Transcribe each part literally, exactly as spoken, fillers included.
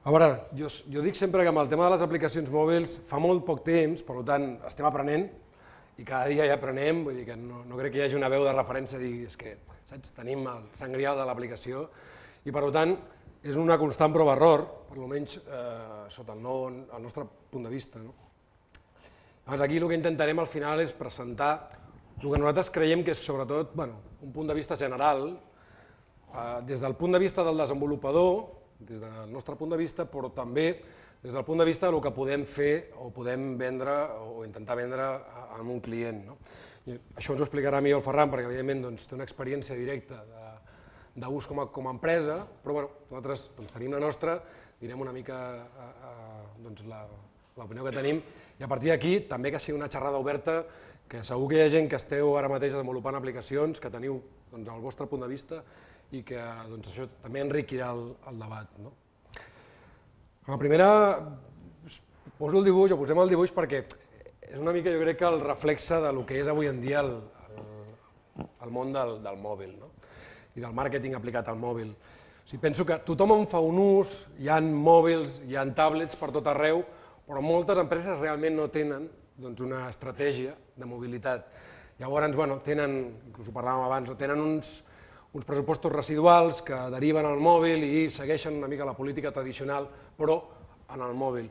A veure, jo, jo dic sempre que amb el tema de les aplicacions mòbils fa molt poc temps, per tant estem aprenent i cada dia ja aprenem, vull dir que no, no crec que hi hagi una veu de referència a dir és que saps, tenim el sant grial de l'aplicació i per tant és una constant prova-error, per almenys eh, sota el, no, el nostre punt de vista. No? Llavors aquí el que intentarem al final és presentar el que nosaltres creiem que és sobretot bueno, un punt de vista general, eh, des del punt de vista del desenvolupador, des del nostre punt de vista, però també des del punt de vista del que podem fer o podem vendre o intentar vendre a un client. No? I això ens ho explicarà millor el Ferran, perquè evidentment doncs, té una experiència directa d'ús com, com a empresa, però bueno, nosaltres doncs, tenim la nostra, direm una mica eh, eh, doncs, l'opinió que tenim, i a partir d'aquí també que sigui una xerrada oberta, que segur que hi ha gent que esteu ara mateix desenvolupant aplicacions, que teniu doncs, el vostre punt de vista i que doncs, això també enriquirà el, el debat. No? La primera, poso el dibuix, o posem el dibuix perquè és una mica, jo crec, que el reflexe del que és avui en dia el, el, el món del, del mòbil, no? I del màrqueting aplicat al mòbil. O sigui, penso que tothom en fa un ús, hi ha mòbils, hi ha tablets per tot arreu, però moltes empreses realment no tenen doncs, una estratègia de mobilitat. Llavors, bueno, tenen, inclús ho parlàvem abans, tenen uns, uns pressupostos residuals que deriven al mòbil i segueixen una mica la política tradicional, però en el mòbil.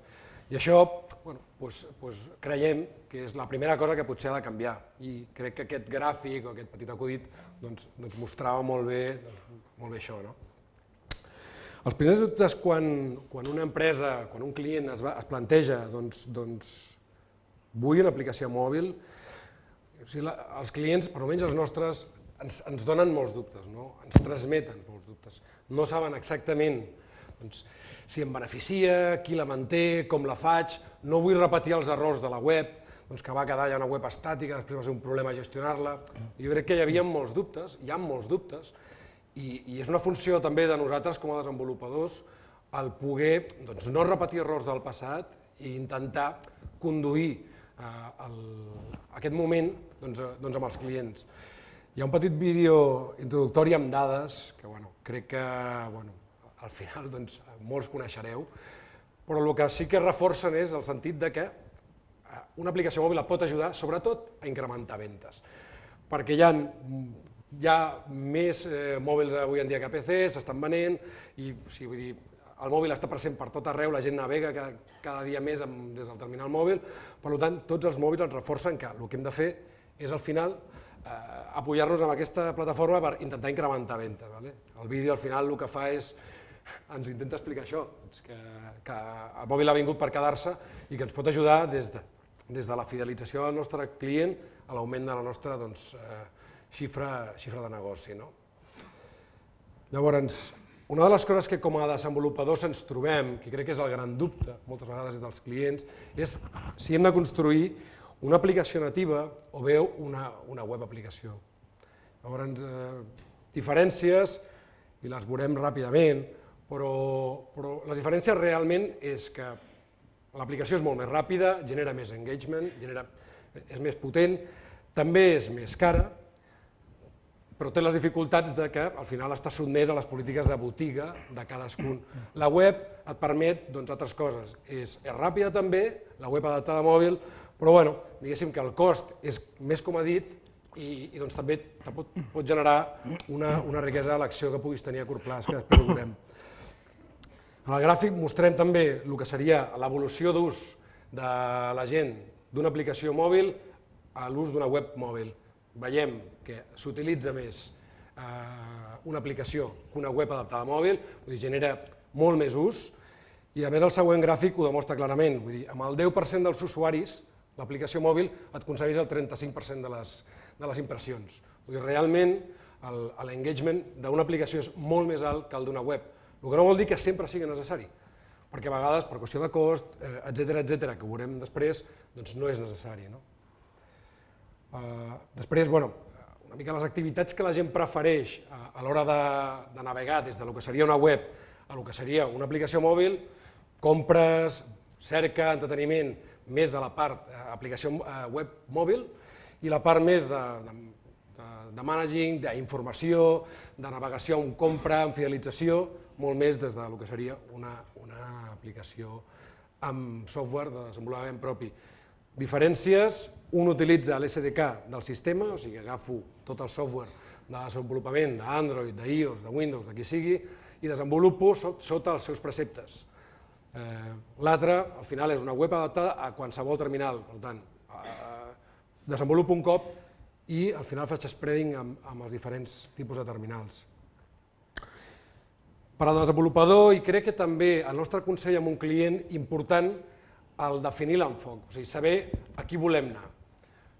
I això bueno, doncs, doncs creiem que és la primera cosa que potser ha de canviar i crec que aquest gràfic o aquest petit acudit doncs, doncs mostrava molt bé, doncs, molt bé això. No? Els primers dubtes quan, quan una empresa, quan un client es, va, es planteja doncs, doncs, vull una aplicació mòbil, o sigui, la, els clients, per almenys els nostres, ens, ens donen molts dubtes, no? Ens transmeten molts dubtes. No saben exactament doncs, si em beneficia, qui la manté, com la faig, no vull repetir els errors de la web, doncs que va quedar ja una web estàtica, després va ser un problema gestionar-la. Jo crec que hi havia molts dubtes, hi ha molts dubtes, i, i és una funció també de nosaltres com a desenvolupadors el poder doncs, no repetir errors del passat i intentar conduir eh, el, aquest moment doncs, doncs amb els clients. Hi ha un petit vídeo introductori amb dades que bueno, crec que bueno, al final doncs, molts coneixereu, però el que sí que reforcen és el sentit de que una aplicació mòbil pot ajudar sobretot a incrementar ventes, perquè hi ha, hi ha més eh, mòbils avui en dia que P Cs, s'estan venent, i o sigui, vull dir, el mòbil està present per tot arreu, la gent navega cada, cada dia més amb, des del terminal mòbil, per tant, tots els mòbils ens reforcen que el que hem de fer és al final eh, apoyar-nos en aquesta plataforma per intentar incrementar ventes. Vale? El vídeo al final el que fa és ens intenta explicar això, que, que el mòbil ha vingut per quedar-se i que ens pot ajudar des de, des de la fidelització del nostre client a l'augment de la nostra doncs, eh, xifra, xifra de negoci. No? Llavors, una de les coses que com a desenvolupadors ens trobem, que crec que és el gran dubte moltes vegades dels clients, és si hem de construir una aplicació nativa o bé una, una web aplicació. Llavors, eh, diferències, i les veurem ràpidament, però, però les diferències realment és que l'aplicació és molt més ràpida, genera més engagement, genera, és més potent, també és més cara, però té les dificultats de que al final està sotmès a les polítiques de botiga de cadascun. La web et permet doncs, altres coses, és, és ràpida també, la web adaptada a mòbil, però bueno, diguéssim que el cost és més comodit i, i doncs, també pot, pot generar una, una riquesa d'elecció que puguis tenir a curt plaç, que després ho veurem. En el gràfic mostrem també el que seria l'evolució d'ús de la gent d'una aplicació mòbil a l'ús d'una web mòbil. Veiem que s'utilitza més eh, una aplicació que una web adaptada a mòbil, vull dir, genera molt més ús, i a més el següent gràfic ho demostra clarament, vull dir, amb el deu per cent dels usuaris l'aplicació mòbil et aconsegueix el trenta-cinc per cent de les, de les impressions. Vull dir, realment l'engagement d'una aplicació és molt més alt que el d'una web, el que no vol dir que sempre sigui necessari, perquè a vegades, per qüestió de cost, etcètera, etcètera, que ho veurem després, doncs no és necessari. No? Uh, després, bueno, una mica les activitats que la gent prefereix a, a l'hora de, de navegar des del que seria una web a el que seria una aplicació mòbil, compres, cerca, entreteniment, més de la part eh, aplicació eh, web mòbil, i la part més de, de de managing, d'informació, de navegació en compra, en fidelització, molt més des del que seria una aplicació amb software de desenvolupament propi. Diferències, un utilitza l'S D K del sistema, o sigui, agafo tot el software de desenvolupament d'Android, d'iOS, de Windows, de qui sigui, i desenvolupo sota els seus preceptes. L'altre, al final, és una web adaptada a qualsevol terminal, per tant, desenvolupo un cop i al final faig spreading amb els diferents tipus de terminals. Per al desenvolupador, i crec que també el nostre consell amb un client, important el definir l'enfoc, o sigui, saber a qui volem anar.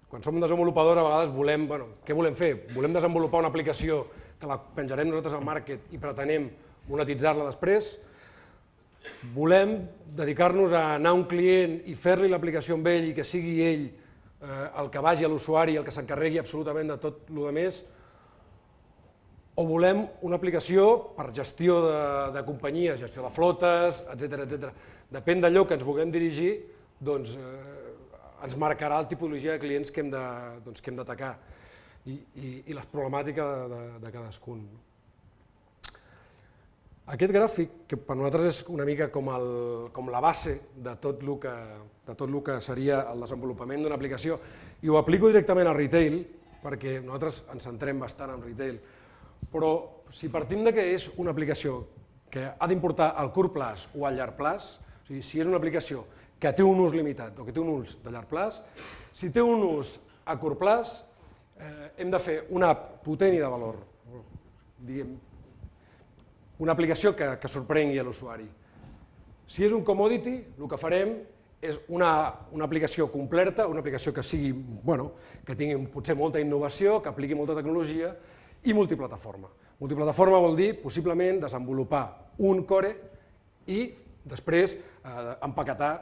Quan som desenvolupadors, a vegades volem, bueno, què volem fer? Volem desenvolupar una aplicació que la penjarem nosaltres al market i pretenem monetitzar-la després? Volem dedicar-nos a anar a un client i fer-li l'aplicació amb ell i que sigui ell el que vagi a l'usuari, el que s'encarregui absolutament de tot el que més? O volem una aplicació per gestió de companyies, gestió de flotes, etcètera. Depèn d'allò que ens vulguem dirigir, doncs ens marcarà la tipologia de clients que hem d'atacar i les problemàtiques de cadascun. Aquest gràfic, que per nosaltres és una mica com la base de tot el que seria el desenvolupament d'una aplicació, i ho aplico directament al retail, perquè nosaltres ens centrem bastant en retail, però si partim que és una aplicació que ha d'importar al curt plaç o al llarg plaç, o sigui, si és una aplicació que té un ús limitat o que té un ús de llarg plaç, si té un ús a curt plaç, hem de fer una app potent i de valor, diguem, una aplicació que sorprengui a l'usuari. Si és un commodity, el que farem és una aplicació completa, una aplicació que sigui, bueno, que tingui potser molta innovació, que apliqui molta tecnologia i multiplataforma. Multiplataforma vol dir, possiblement, desenvolupar un core i després empaquetar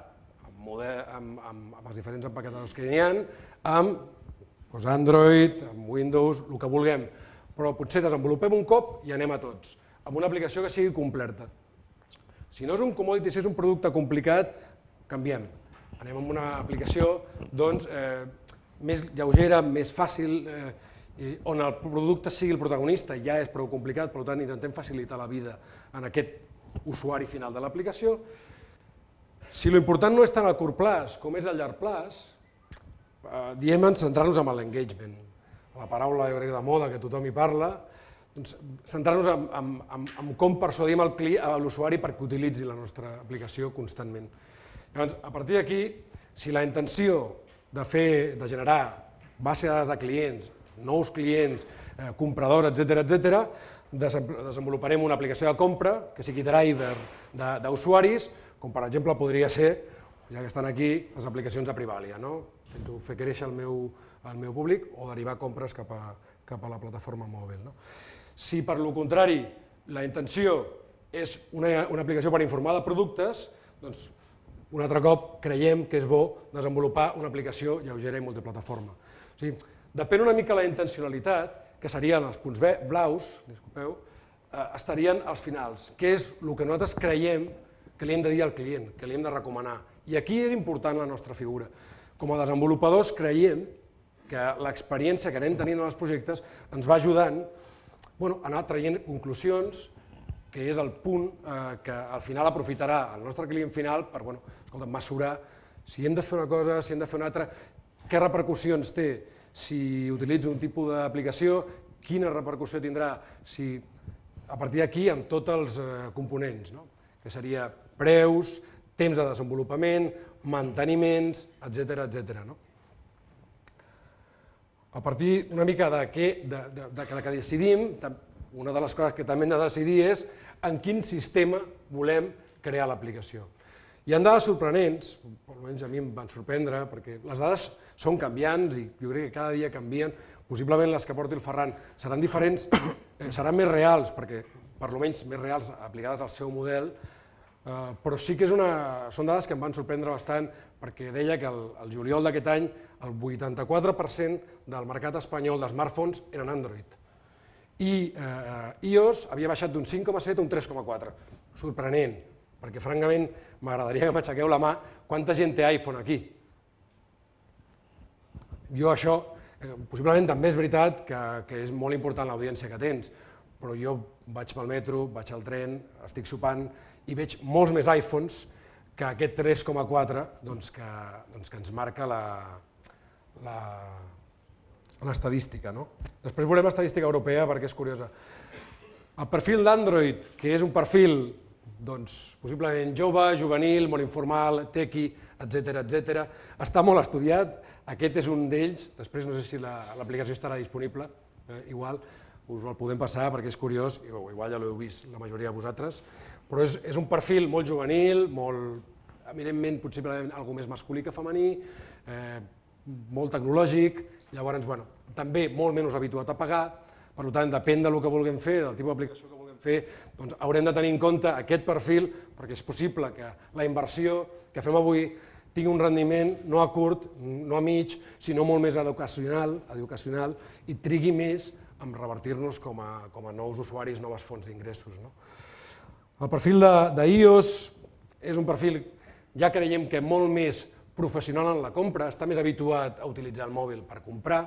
amb els diferents empaquetadors que hi ha, amb Android, amb Windows, el que vulguem, però potser desenvolupem un cop i anem a tots, amb una aplicació que sigui completa. Si no és un commodity, si és un producte complicat, canviem. Anem amb una aplicació més lleugera, més fàcil, on el producte sigui el protagonista, ja és prou complicat, per tant intentem facilitar la vida en aquest usuari final de l'aplicació. Si l'important no és tant a curt plaç com és a llarg plaç, diem centrar-nos en l'engagement. La paraula de moda que tothom hi parla, centrar-nos en com persuadim l'usuari perquè utilitzi la nostra aplicació constantment. Llavors, a partir d'aquí, si la intenció de generar base de dades de clients, nous clients, compradors, etcètera, desenvoluparem una aplicació de compra que sigui driver d'usuaris, com per exemple podria ser, ja que estan aquí, les aplicacions de Privalia. Intento fer créixer el meu públic o derivar compres cap a la plataforma mòbil. Si, per lo contrari, la intenció és una aplicació per informar de productes, doncs un altre cop creiem que és bo desenvolupar una aplicació lleugera i multiplataforma. Depèn una mica la intencionalitat, que serien els punts blaus, disculpeu, estarien als finals, que és el que nosaltres creiem que li hem de dir al client, que li hem de recomanar. I aquí és important la nostra figura. Com a desenvolupadors creiem que l'experiència que anem tenint en els projectes ens va ajudant a anar traient conclusions, que és el punt que al final aprofitarà el nostre client final per mesurar si hem de fer una cosa, si hem de fer una altra, què repercussions té si utilitzo un tipus d'aplicació, quina repercussió tindrà a partir d'aquí amb tots els components, que seria preus, temps de desenvolupament, manteniments, etcètera. A partir una mica de que decidim, una de les coses que també hem de decidir és en quin sistema volem crear l'aplicació. Hi ha dades sorprenents, almenys a mi em van sorprendre, perquè les dades són canviants i jo crec que cada dia canvien, possiblement les que porti el Ferran seran diferents, seran més reals, perquè per almenys més reals aplicades al seu model, però sí que són dades que em van sorprendre bastant perquè deia que el juliol d'aquest any el vuitanta-quatre per cent del mercat espanyol de smartphones eren Android i iOS havia baixat d'un cinc coma set a un tres coma quatre. Sorprenent, perquè francament m'agradaria que m'aixequeu la mà quanta gent té iPhone aquí. Jo això Possiblement també és veritat que és molt important l'audiència que tens, però jo vaig pel metro, vaig al tren, estic sopant i veig molts més iPhones que aquest tres coma quatre que ens marca l'estadística. Després veurem l'estadística europea perquè és curiosa. El perfil d'Android, que és un perfil possiblement jove, juvenil, molt informal, tequi, etcètera, etcètera, està molt estudiat. Aquest és un d'ells, després no sé si l'aplicació estarà disponible, igual, us el podem passar perquè és curiós, igual ja l'heu vist la majoria de vosaltres, però és un perfil molt juvenil, molt, eminentment, possiblement, alguna més masculí que femení, molt tecnològic, llavors, bueno, també molt menys habituat a pagar, per tant, depèn del que vulguem fer, del tipus d'aplicació que vulguem fer, doncs haurem de tenir en compte aquest perfil, perquè és possible que la inversió que fem avui tingui un rendiment no a curt, no a mig, sinó molt més educacional i trigui més en revertir-nos com a nous usuaris, noves fonts d'ingressos. El perfil d'iOS és un perfil, ja creiem que molt més professional en la compra, està més habituat a utilitzar el mòbil per comprar,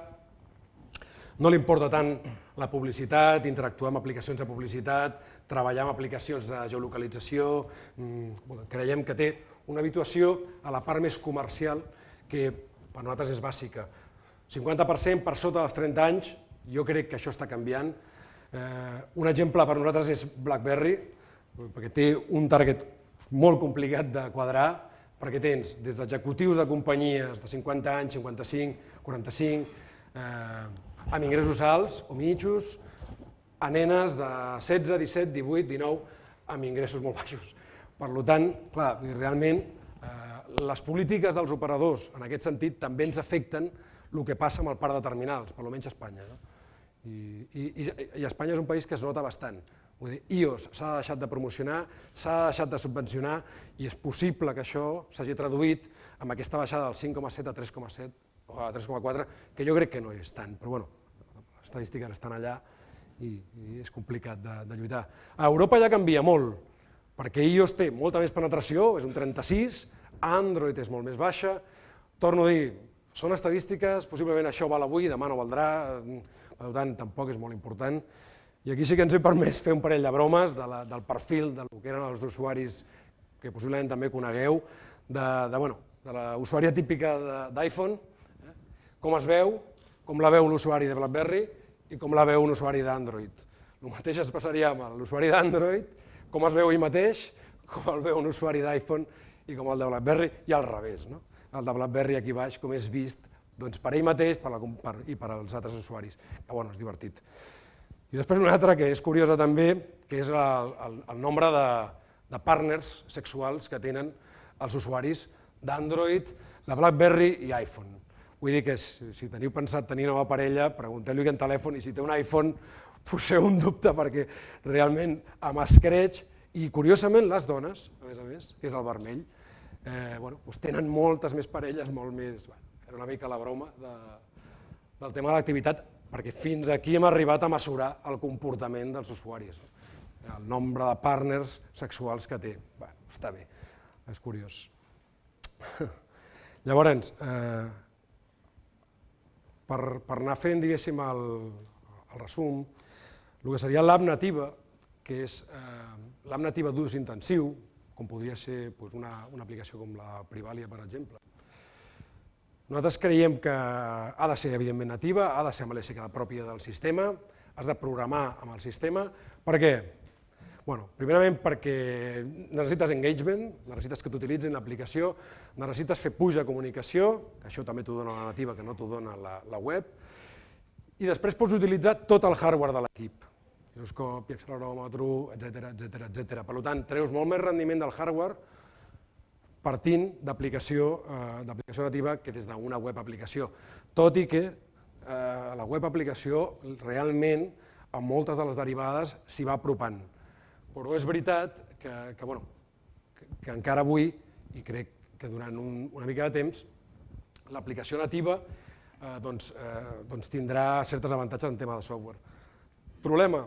no li importa tant la publicitat, interactuar amb aplicacions de publicitat, treballar amb aplicacions de geolocalització, creiem que té una habituació a la part més comercial que per nosaltres és bàsica. cinquanta per cent per sota dels trenta anys, jo crec que això està canviant. Un exemple per nosaltres és BlackBerry, perquè té un target molt complicat de quadrar, perquè tens des d'executius de companyies de cinquanta anys, cinquanta-cinc, quaranta-cinc, amb ingressos alts o mitjos, a nenes de setze, disset, divuit, dinou, amb ingressos molt baixos. Per tant, clar, realment, les polítiques dels operadors en aquest sentit també ens afecten el que passa amb el parc de terminals, per almenys a Espanya. I Espanya és un país que es nota bastant. iOS s'ha deixat de promocionar, s'ha deixat de subvencionar i és possible que això s'hagi traduït amb aquesta baixada del cinc coma set a tres coma set o a tres coma quatre, que jo crec que no és tant, però bueno, les estadístiques estan allà i és complicat de lluitar. A Europa ja canvia molt, perquè iOS té molta més penetració, és un trenta-sis, Android és molt més baixa, torno a dir, són estadístiques, possiblement això val avui, demà no valdrà, per tant tampoc és molt important, i aquí sí que ens he permès fer un parell de bromes del perfil del que eren els usuaris que possiblement també conegueu, de l'usuària típica d'iPhone, com es veu, com la veu l'usuari de BlackBerry i com la veu un usuari d'Android. El mateix es passaria amb l'usuari d'Android, com es veu ell mateix, com el veu un usuari d'iPhone i com el de BlackBerry, i al revés. El de BlackBerry aquí baix, com és vist per ell mateix i per als altres usuaris, que bueno, és divertit. I després una altra que és curiosa també, que és el nombre de partners sexuals que tenen els usuaris d'Android, de BlackBerry i iPhone. Vull dir que si teniu pensat tenir nova parella, pregunteu-li quin telèfon i si té un iPhone, poseu un dubte perquè realment amb escreix, i curiosament les dones, a més a més, que és el vermell, tenen moltes més parelles, molt més... Era una mica la broma del tema de l'activitat, perquè fins aquí hem arribat a mesurar el comportament dels usuaris, el nombre de partners sexuals que té. Bé, està bé, és curiós. Llavors, per anar fent, diguéssim, el resum, el que seria l'app nativa, que és l'app nativa d'ús intensiu, com podria ser una aplicació com la Privalia, per exemple. Nosaltres creiem que ha de ser, evidentment, nativa, ha de ser amb l'S K pròpia del sistema, has de programar amb el sistema. Per què? Primerament perquè necessites engagement, necessites que t'utilitzin l'aplicació, necessites fer push de comunicació, que això també t'ho dona la nativa, que no t'ho dona la web, i després pots utilitzar tot el hardware de l'equip, giroscopi, acceleròmetre, etcètera, etcètera. Per tant, treus molt més rendiment del hardware partint d'aplicació nativa que des d'una web aplicació, tot i que la web aplicació realment amb moltes de les derivades s'hi va apropant. Però és veritat que encara avui, i crec que durant una mica de temps, l'aplicació nativa tindrà certes avantatges en tema de software. Problema,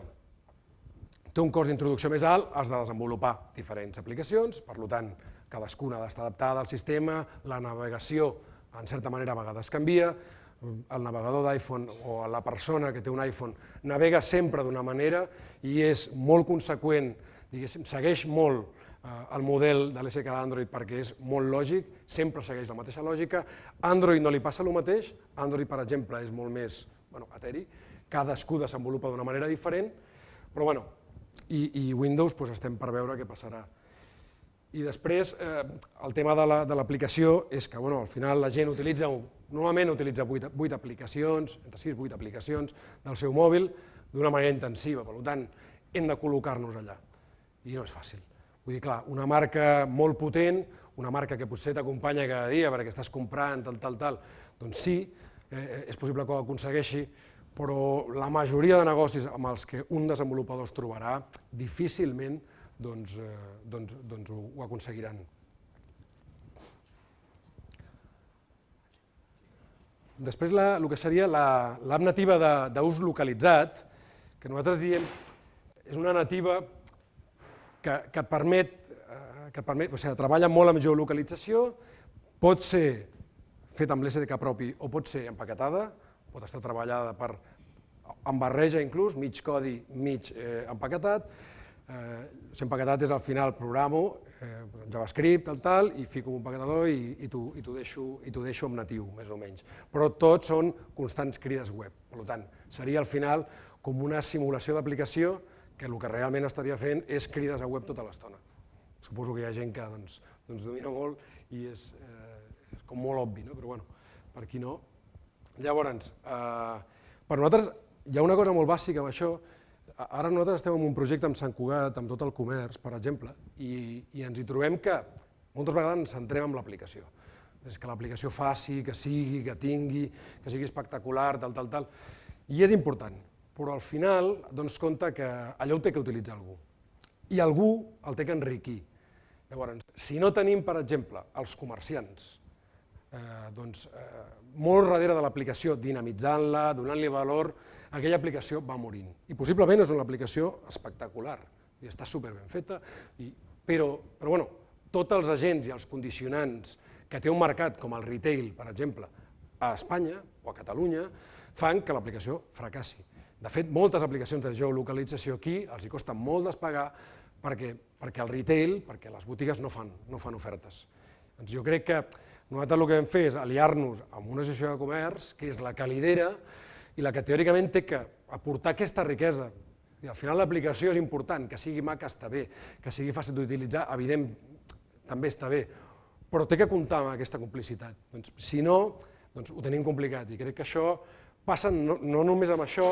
té un cost d'introducció més alt, has de desenvolupar diferents aplicacions, per tant, cadascuna ha d'estar adaptada al sistema, la navegació, en certa manera, a vegades canvia, el navegador d'iPhone o la persona que té un iPhone navega sempre d'una manera i és molt conseqüent, diguéssim, segueix molt el model de l'S K d'Android perquè és molt lògic, sempre segueix la mateixa lògica. Android no li passa el mateix, Android, per exemple, és molt més eteri, cadascú desenvolupa d'una manera diferent, però bueno, i Windows estem per veure què passarà. I després, el tema de l'aplicació és que al final la gent utilitza, normalment utilitza vuit aplicacions, entre sis i vuit aplicacions del seu mòbil d'una manera intensiva, per tant, hem de col·locar-nos allà. I no és fàcil. Vull dir, clar, una marca molt potent, una marca que potser t'acompanya cada dia perquè estàs comprant, tal, tal, tal, doncs sí, és possible que ho aconsegueixi, però la majoria de negocis amb els que un desenvolupador es trobarà difícilment ho aconseguiran. Després, el que seria l'app nativa d'ús localitzat, que nosaltres diem és una nativa que et permet, o sigui, treballa molt amb geolocalització, pot ser feta amb l'S D K propi o pot ser empaquetada, pot estar treballada amb barreja inclús, mig codi, mig empaquetat. Empaquetat és al final programo, JavaScript, tal, i fico un empaquetador i t'ho deixo en natiu, més o menys. Però tots són constants crides web. Per tant, seria al final com una simulació d'aplicació que el que realment estaria fent és crides a web tota l'estona. Suposo que hi ha gent que domina molt i és com molt obvi, però bueno, per qui no. Llavors, per nosaltres hi ha una cosa molt bàsica amb això. Ara nosaltres estem en un projecte amb Sant Cugat, amb tot el comerç, per exemple, i ens hi trobem que moltes vegades ens centrem en l'aplicació. És que l'aplicació faci, que sigui, que tingui, que sigui espectacular, tal, tal, tal. I és important, però al final dones compte que allò ho té que utilitzar algú. I algú el té que enriquir. Llavors, si no tenim, per exemple, els comerciants, doncs molt darrere de l'aplicació, dinamitzant-la, donant-li valor, aquella aplicació va morint. I possiblement és una aplicació espectacular, i està superben feta, però tots els agents i els condicionants que té un mercat com el retail, per exemple, a Espanya o a Catalunya, fan que l'aplicació fracassi. De fet, moltes aplicacions de geolocalització aquí els hi costa molt despegar perquè el retail, perquè les botigues no fan ofertes. Jo crec que nosaltres el que vam fer és aliar-nos amb una associació de comerç, que és la que lidera i la que teòricament té que aportar aquesta riquesa. I al final l'aplicació és important, que sigui maca està bé, que sigui fàcil d'utilitzar, evident, també està bé, però té que comptar amb aquesta complicitat. Si no, ho tenim complicat i crec que això passa no només amb això,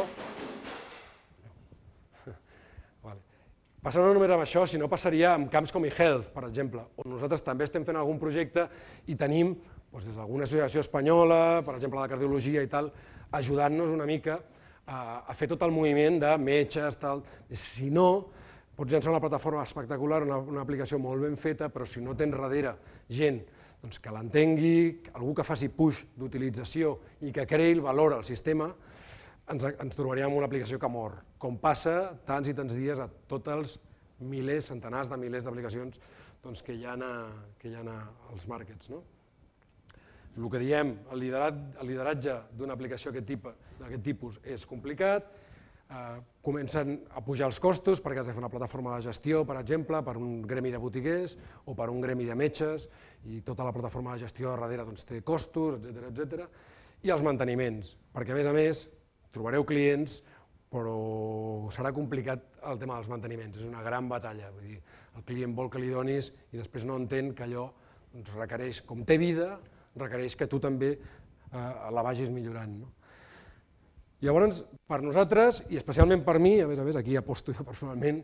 passa no només amb això, sinó passaria en camps com eHealth, per exemple, on nosaltres també estem fent algun projecte i tenim, des d'alguna associació espanyola, per exemple la de cardiologia i tal, ajudant-nos una mica a fer tot el moviment de metges, tal. Si no, pots llançar una plataforma espectacular, una aplicació molt ben feta, però si no tens darrere gent que l'entengui, algú que faci push d'utilització i que creï el valor al sistema, ens trobaríem amb una aplicació que mor, com passa tants i tants dies a tots els milers, centenars de milers d'aplicacions que hi ha als markets. El que diem, el lideratge d'una aplicació d'aquest tipus és complicat, comencen a pujar els costos perquè has de fer una plataforma de gestió, per exemple, per un gremi de botiguers o per un gremi de metges, i tota la plataforma de gestió darrere té costos, etcètera, i els manteniments, perquè a més a més trobareu clients, però serà complicat el tema dels manteniments, és una gran batalla. El client vol que li donis i després no entén que allò requereix, com té vida, requereix que tu també la vagis millorant. Llavors, per nosaltres, i especialment per mi, a més a més, aquí aposto jo personalment,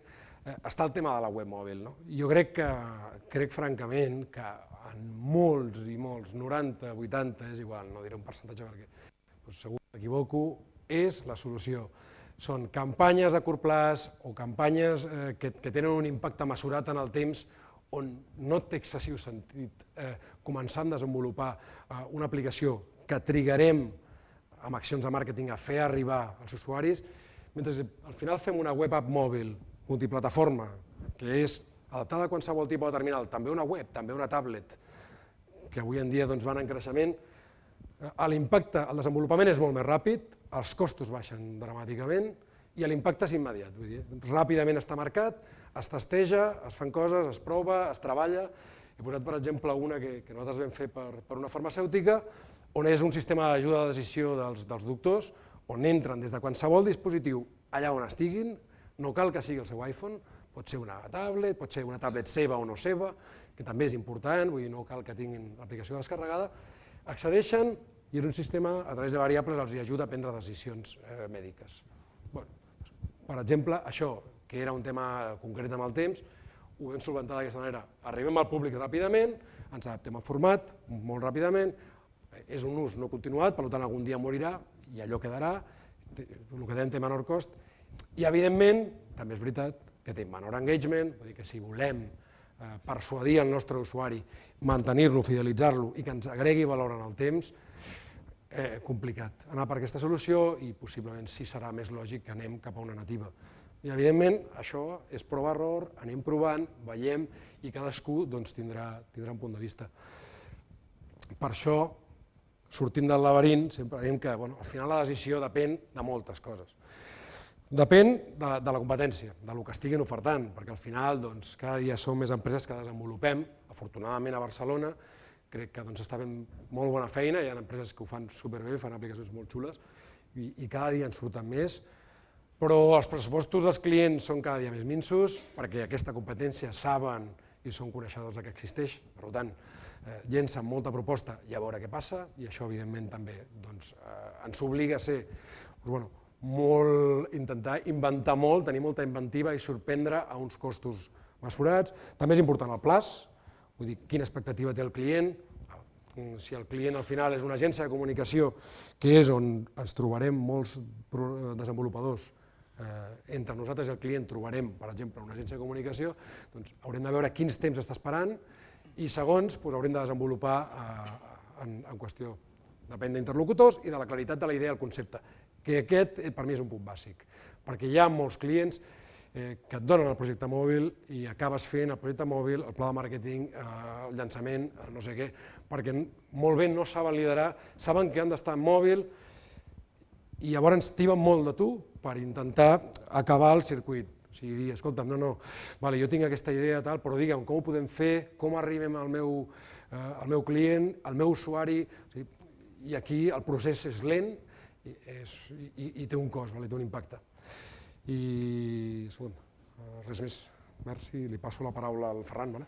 està el tema de la web mòbil. Jo crec francament que en molts i molts, noranta, vuitanta, és igual, no diré un percentatge perquè segur que m'equivoco, és la solució. Són campanyes a curt termini o campanyes que tenen un impacte mesurat en el temps on no té excessiu sentit començar a desenvolupar una aplicació que trigarem amb accions de màrqueting a fer arribar als usuaris, mentre al final fem una web app mòbil multiplataforma, que és adaptada a qualsevol tipus de terminal, també una web, també una tablet, que avui en dia van en creixement, l'impacte, el desenvolupament és molt més ràpid, els costos baixen dramàticament i l'impacte és immediat, vull dir, ràpidament està marcat, es testeja, es fan coses, es prova, es treballa. He posat, per exemple, una que, que nosaltres vam fer per, per una farmacèutica, on és un sistema d'ajuda de decisió dels, dels doctors, on entren des de qualsevol dispositiu allà on estiguin, no cal que sigui el seu iPhone, pot ser una tablet, pot ser una tablet seva o no seva, que també és important, vull dir, no cal que tinguin l'aplicació descarregada, accedeixen i és un sistema, a través de variables, els ajuda a prendre decisions eh, mèdiques. Bueno, per exemple, això, que era un tema concret amb el temps, ho vam solventar d'aquesta manera. Arribem al públic ràpidament, ens adaptem al format molt ràpidament, és un ús no continuat, per tant algun dia morirà i allò quedarà, el que dèiem té menor cost, i evidentment, també és veritat, que té menor engagement, vull dir que si volem persuadir el nostre usuari, mantenir-lo, fidelitzar-lo i que ens agregui valor en el temps, eh, complicat anar per aquesta solució i possiblement sí serà més lògic que anem cap a una nativa. I evidentment això és prova-error, anem provant, veiem i cadascú doncs, tindrà, tindrà un punt de vista. Per això, sortint del laberint, sempre diem que bueno, al final la decisió depèn de moltes coses. Depèn de, de la competència, de lo que estiguin ofertant, perquè al final doncs, cada dia som més empreses que desenvolupem, afortunadament a Barcelona, crec que doncs, està fent molt bona feina, hi ha empreses que ho fan superbé, fan aplicacions molt xules, i, i cada dia en surten més, però els pressupostos dels clients són cada dia més minsos, perquè aquesta competència saben i són coneixedors que existeix, per tant, eh, llencen molta proposta i a veure què passa, i això evidentment també doncs, eh, ens obliga a ser doncs, bueno, molt, intentar inventar molt, tenir molta inventiva i sorprendre a uns costos mesurats. També és important el plaç, vull dir, quina expectativa té el client, si el client al final és una agència de comunicació, que és on ens trobarem molts desenvolupadors, eh, entre nosaltres i el client trobarem, per exemple, una agència de comunicació, doncs haurem de veure quins temps està esperant i segons doncs, haurem de desenvolupar eh, en, en qüestió. Depèn d'interlocutors i de la claritat de la idea del concepte, que aquest per mi és un punt bàsic, perquè hi ha molts clients eh, que et donen el projecte mòbil i acabes fent el projecte mòbil, el pla de màrqueting, eh, el llançament, el no sé què, perquè molt bé no saben liderar, saben que han d'estar en mòbil i llavors tiben molt de tu per intentar acabar el circuit. O sigui, dir, escolta'm, no, no, vale, jo tinc aquesta idea, tal, però digue'm, com ho podem fer, com arribem al meu, eh, al meu client, al meu usuari, o sigui, i aquí el procés és lent i, és, i, i té un cost, vale, té un impacte. I, escolta'm, res més. Merci, li passo la paraula al Ferran, vale?